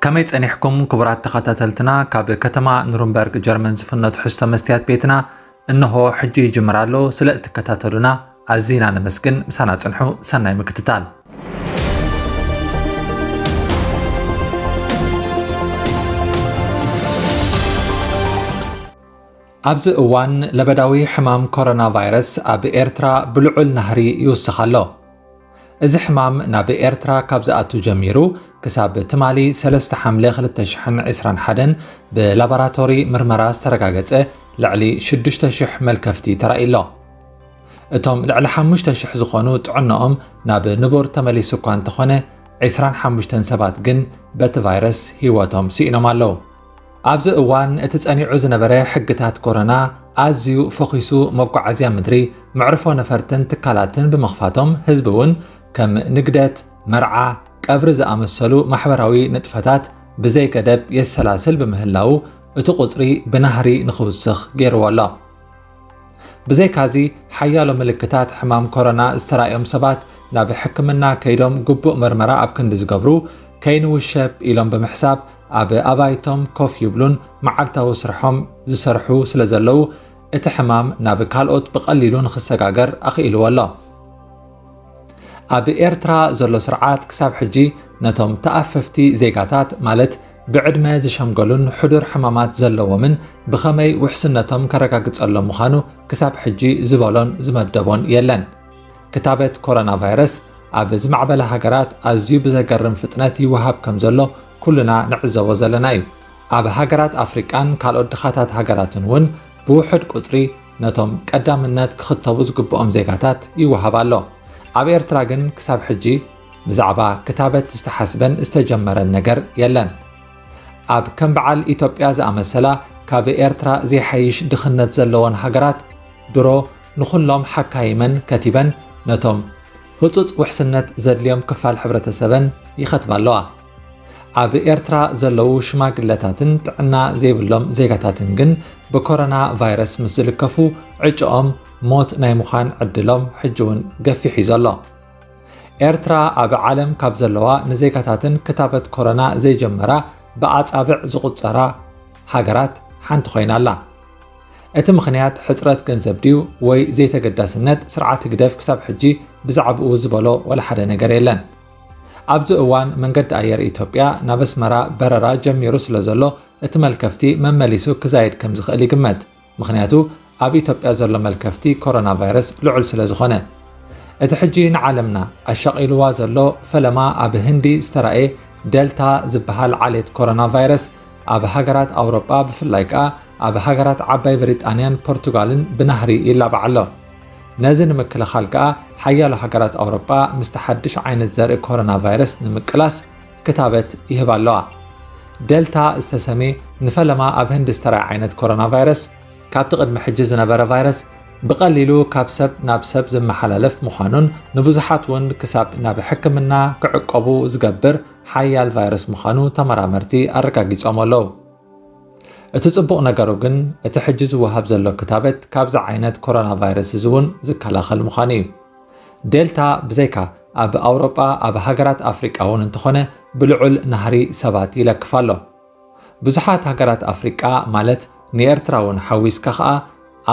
ከመይ ጸኒሕኩም ክቡራት ተኸታተልትና? ካብ ከተማ ኑርንበርግ ጀርመን ዝፍኖ ትሕዝቶ መስትያት ቤትና እንሆ ሕጂ ይጅምር ኣሎ። ስለ እትከታተሉና ኣዚና ነመስግን። ምሳና ጽንሑ። ሰናይ ምክትታል። ኣብዚ እዋን ለበዳዊ ሕማም ኮሮና ቫይረስ ኣብ ኤርትራ ብልዑል ናህሪ ይውስኽ ኣሎ። እዚ ሕማም ናብ ኤርትራ ካብ ዝኣቱ ጀሚሩ ክሳብ ትማሊ ሰለስተ ሓምለ ክልተ ሽሕን ዕስራን ሓደን ብላቦራቶሪ ምርመራ ዝተረጋገጸ ልዕሊ ሽዱሽተ ሽሕ መልከፍቲ ተራእዩ ኣሎ። እቶም ልዕሊ ሓሙሽተ ሽሕ ዝኾኑ ጥዕናኦም ናብ ንቡር ተመሊሱ እኳ እንተኾነ፣ ዕስራን ሓሙሽተን ሰባት ግን በቲ ቫይረስ ህይወቶም ስኢኖም ኣለዉ። ኣብዚ እዋን እቲ ጸኒዑ ዝነበረ ሕግታት ኮሮና ኣዝዩ ፈኺሱ፣ መጓዓዝያ ምድሪ፣ መዕርፎ ነፈርትን ትካላትን ብምኽፋቶም፣ ህዝቢ እውን ከም ንግደት፣ መርዓ፣ ቀብሪ ዝኣመሰሉ ማሕበራዊ ንጥፈታት ብዘይ ገደብ የሰላስል ብምህላዉ፣ እቲ ቁጽሪ ብናህሪ ንኽውስኽ ገይርዎ ኣሎ። ብዘይካዚ፣ ሓያሎ ምልክታት ሕማም ኮሮና ዝተራእዮም ሰባት ናብ ሕክምና ከይዶም ግቡእ መርመራ ኣብ ክንዲ ዝገብሩ፣ ከይንውሸብ ኢሎም ብምሕሳብ ኣብ ኣባይቶም ኮፍ ይብሉን መዓልታዊ ስርሖም ዝሰርሑ ስለ ዘለዉ፣ እቲ ሕማም ናብ ካልኦት ብቐሊሉ ንኽሰጋገር ኣኽኢልዎ ኣሎ። ኣብ ኤርትራ ዘሎ ስርዓት ክሳብ ሕጂ ነቶም ተኣፈፍቲ ዜጋታት፣ ማለት ብዕድመ ዝሸምገሉን ሕዱር ሕማማት ዘለዎምን፣ ብኸመይ ውሕስነቶም ከረጋግጸሎም ምዃኑ ክሳብ ሕጂ ዝበሎን ዝመደቦን የለን። ክታበት ኮሮና ቫይረስ ኣብ ዝማዕበላ ሃገራት ኣዝዩ ብዘገርም ፍጥነት ይወሃብ ከም ዘሎ ኩልና ንዕዘቦ ዘለና እዩ። ኣብ ሃገራት ኣፍሪቃን ካልኦት ድኻታት ሃገራትን እውን ብውሑድ ቁጽሪ ነቶም ቀዳምነት ክኽተቡ ዝግብኦም ዜጋታት ይወሃብ ኣሎ። ኣብ ኤርትራ ግን ክሳብ ሕጂ ብዛዕባ ክታበት ዝተሓስበን ዝተጀመረን ነገር የለን። ኣብ ከም በዓል ኢትዮጵያ ዝኣመሰላ ካብ ኤርትራ ዘይሓይሽ ድኽነት ዘለወን ሃገራት፣ ድሮ ንኹሎም ሓካይመን ከቲበን ነቶም ህጹጽ ውሕስነት ዘድልዮም ክፋል ሕብረተሰበን ይኸትባ ኣለዋ። ኣብ ኤርትራ ዘለዉ ሽማግለታትን ጥዕና ዘይብሎም ዜጋታትን ግን ብኮሮና ቫይረስ ምስ ዝልከፉ፣ ዕጭኦም ሞት ናይ ምዃን ዕድሎም ሕጂ እውን ገፊሕ እዩ ዘሎ። ኤርትራ ኣብ ዓለም ካብ ዘለዋ ንዜጋታተን ክታበት ኮሮና ዘይጀመራ ብኣጻብዕ ዝቑጸራ ሃገራት ሓንቲ ኮይና ኣላ። እቲ ምኽንያት ሕጽረት ገንዘብ ድዩ ወይ ዘይተገዳስነት ስርዓት ህግደፍ ክሳብ ሕጂ ብዛዕባኡ ዝበሎ ዋላ ሓደ ነገር የለን። ኣብዚ እዋን መንገዲ ኣየር ኢትዮጵያ ናብ ኣስመራ በረራ ጀሚሩ ስለ ዘሎ፣ እቲ መልከፍቲ መመሊሱ ክዛይድ ከም ዝኽእል ይግመት። ምኽንያቱ ኣብ ኢትዮጵያ ዘሎ መልከፍቲ ኮሮና ቫይረስ ልዑል ስለ ዝኾነ። እቲ ሕጂ ንዓለምና ኣሻቒልዋ ዘሎ ፈለማ ኣብ ህንዲ ዝተራእየ ደልታ ዝበሃል ዓሌት ኮሮና ቫይረስ ኣብ ሃገራት ኣውሮጳ፣ ብፍላይ ከኣ ኣብ ሃገራት ዓባይ ብሪጣንያን ፖርቱጋልን ብናህሪ ይላባዕ ኣሎ። ነዚ ንምክልኻል ከኣ ሓያሎ ሃገራት ኣውሮጳ ምስቲ ሓድሽ ዓይነት ዘርኢ ኮሮና ቫይረስ ንምቅላስ ክታበት ይህባ ኣለዋ። ደልታ ዝተሰምየ ንፈለማ ኣብ ህንዲ ዝተራእየ ዓይነት ኮሮና ቫይረስ፣ ካብቲ ቅድሚ ሕጂ ዝነበረ ቫይረስ ብቐሊሉ ካብ ሰብ ናብ ሰብ ዝመሓላለፍ ምዃኑን ንብዙሓት እውን ክሳብ ናብ ሕክምና ክዕቀቡ ዝገብር ሓያል ቫይረስ ምዃኑ ተመራመርቲ ኣረጋጊጾም ኣለዉ። እቲ ጽቡቕ ነገሩ ግን፣ እቲ ሕጂ ዝወሃብ ዘሎ ክታበት ካብዚ ዓይነት ኮሮና ቫይረስ እዚ እውን ዝከላኸል ምዃኑ እዩ። ዴልታ ብዘይካ ኣብ ኣውሮጳ፣ ኣብ ሃገራት ኣፍሪቃ እውን እንተኾነ ብልዑል ናህሪ ሰባት ይለክፍ ኣሎ። ብዙሓት ሃገራት ኣፍሪቃ፣ ማለት ንኤርትራ እውን ሓዊስካ ኸኣ፣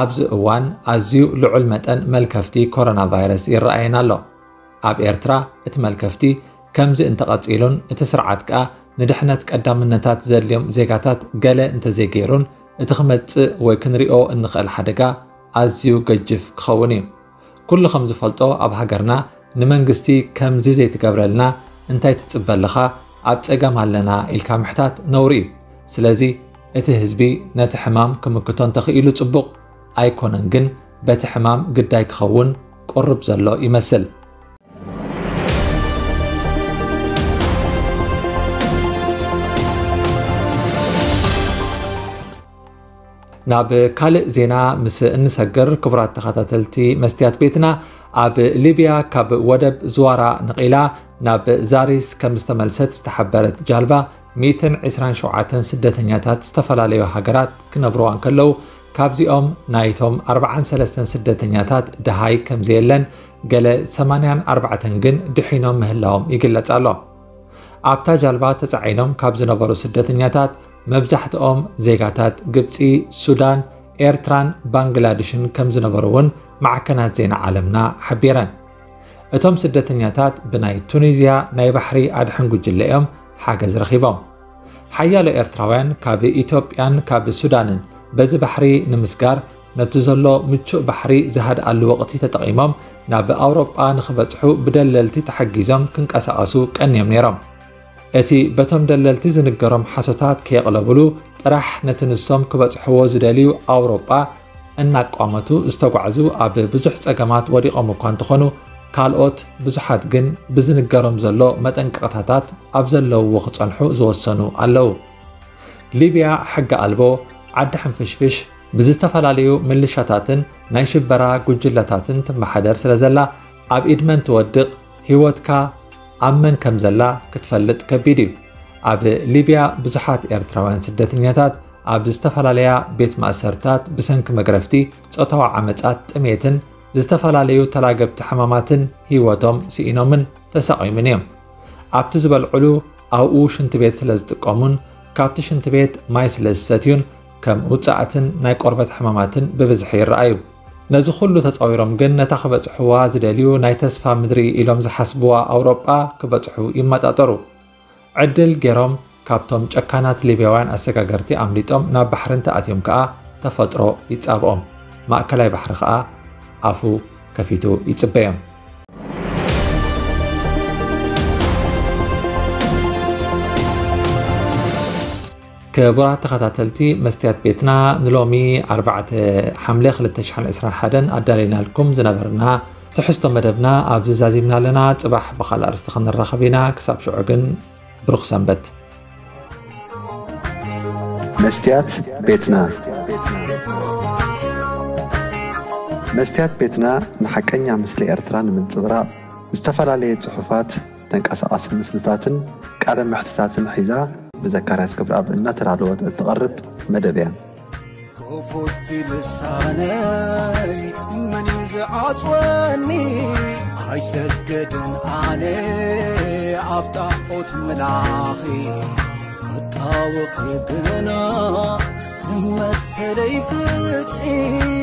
ኣብዚ እዋን ኣዝዩ ልዑል መጠን መልከፍቲ ኮሮና ቫይረስ ይረኣየን ኣሎ። ኣብ ኤርትራ እቲ መልከፍቲ ከምዚ እንተቐጺሉን እቲ ስርዓት ከኣ ንድሕነት ቀዳምነታት ዘድልዮም ዜጋታት ገለ እንተዘይገይሩን፣ እቲ ክመጽእ ወይ ክንሪኦ እንኽእል ሓደጋ ኣዝዩ ገጅፍ ክኸውን እዩ። ኩሉ ከም ዝፈልጦ፣ ኣብ ሃገርና ንመንግስቲ ከምዚ ዘይትገብረልና እንታይ ትጽበ ኣለኻ? ኣብ ጸገም ኣለና ኢልካ ምሕታት ነውሪ እዩ። ስለዚ እቲ ህዝቢ ነቲ ሕማም ክምክቶ እንተኽኢሉ ጽቡቕ፣ ኣይኮነን ግን በቲ ሕማም ግዳይ ክኸውን ቁሩብ ዘሎ ይመስል። ናብ ካልእ ዜና ምስ እንሰግር፣ ክቡራት ተኸታተልቲ መስትያት ቤትና፣ ኣብ ሊብያ ካብ ወደብ ዝዋራ ነቒላ ናብ ዛሪስ ከም ዝተመልሰት ዝተሓበረት ጃልባ፣ ሚእትን ዕስራን ሸውዓተን ስደተኛታት ዝተፈላለዩ ሃገራት ክነብርዋ እንከለዉ፣ ካብዚኦም ናይቶም ኣርብዓን ሰለስተን ስደተኛታት ደሃይ ከም ዘየለን፣ ገለ ሰማንያን ኣርባዕተን ግን ድሒኖም ምህላዎም ይግለጽ ኣሎ። ኣብታ ጃልባ ተጻዒኖም ካብ ዝነበሩ ስደተኛታት መብዛሕትኦም ዜጋታት ግብጺ፣ ሱዳን፣ ኤርትራን ባንግላድሽን ከም ዝነበሩ እውን ማዕከናት ዜና ዓለምና ሓቢረን። እቶም ስደተኛታት ብናይ ቱኒዝያ ናይ ባሕሪ ኣድሕን ጉጅለ እዮም ሓገዝ ረኺቦም። ሓያሎ ኤርትራውያን ካብ ኢትዮጵያን ካብ ሱዳንን በዚ ባሕሪ ንምስጋር ነቲ ዘሎ ምቹእ ባሕሪ ዝሃድኣሉ ወቕቲ ተጠቒሞም ናብ ኣውሮጳ ንኽበጽሑ ብደለልቲ ተሓጊዞም ክንቀሳቐሱ ቀንዮም ነይሮም። እቲ በቶም ደለልቲ ዝንገሮም ሓሶታት ከየቕለብሉ ጥራሕ ነቲ ንሶም ክበጽሕዎ ዝደልዩ ኣውሮጳ እናቋመቱ ዝተጓዕዙ ኣብ ብዙሕ ጸገማት ወዲቖም እኳ እንተኾኑ፣ ካልኦት ብዙሓት ግን ብዝንገሮም ዘሎ መጠንቀቕታታት ኣብ ዘለውዎ ክጸንሑ ዝወሰኑ ኣለዉ። ሊብያ ሕጊ ኣልቦ፣ ዓዲ ሕንፍሽፍሽ፣ ብዝተፈላለዩ ምልሻታትን ናይ ሽበራ ጉጅለታትን ትመሓደር ስለ ዘላ፣ ኣብ ኢድ መን ትወድቕ፣ ህይወትካ ኣብ መን ከም ዘላ ክትፈልጥ ከቢድ እዩ። ኣብ ሊብያ ብዙሓት ኤርትራውያን ስደተኛታት ኣብ ዝተፈላለያ ቤት ማእሰርታት ብሰንኪ መግረፍቲ፣ ጾታዊ ዓመጻት፣ ጥሜትን ዝተፈላለዩ ተላገብቲ ሕማማትን ህይወቶም ስኢኖምን ተሳቒሙን እዮም። ኣብቲ ዝበልዕሉ ኣብኡ ሽንቲ ቤት ስለ ዝጥቀሙን ካብቲ ሽንቲ ቤት ማይ ስለ ዝሰትዩን ከም ውጻእትን ናይ ቆርበት ሕማማትን ብብዝሒ ይረኣዩ። ነዚ ኩሉ ተጻዊሮም ግን ነታ ክበጽሕዋ ዝደልዩ ናይ ተስፋ ምድሪ ኢሎም ዝሓስብዋ ኣውሮጳ ክበጽሑ ይመጣጠሩ። ዕድል ገይሮም ካብቶም ጨካናት ሊብያውያን ኣሰጋገርቲ ኣምሊጦም ናብ ባሕሪ እንተኣትዮም ከኣ ተፈጥሮ ይጻብኦም። ማእከላይ ባሕሪ ከኣ ኣፉ ከፊቱ ይጽበዮም። ክቡራት ተኸታተልቲ መስትያት ቤትና፣ ንሎሚ ኣርባዕተ ሓምለ ክልተ ሽሕን ዕስራን ሓደን ኣዳሊናልኩም ዝነበርና ትሕዝቶ መደብና ኣብዚ ዛዚምና ኣለና። ጽባሕ ብኻልእ ኣርእስቲ ክንራኸብ ኢና። ክሳብ ሽዑ ግን ብሩኽ ሰንበት። መስትያት ቤትና። መስትያት ቤትና ንሓቀኛ ምስሊ ኤርትራ ንምንጽብራቕ ዝተፈላለየ ጽሑፋት፣ ተንቀሳቓሲ ምስልታትን ቃለ መሕትታትን ሒዛ ብዘካርያስ ገብረኣብ እናተዳለወት እትቐርብ መደብ እያ። ክፉት ልሳነይ መን እዩ ዝዓጽወኒ? ኣይሰግድን ኣነ ኣብ ጣዖት ምላኺ፣ ክጣወኺ ግና ንመሰለይ ፍትሒ።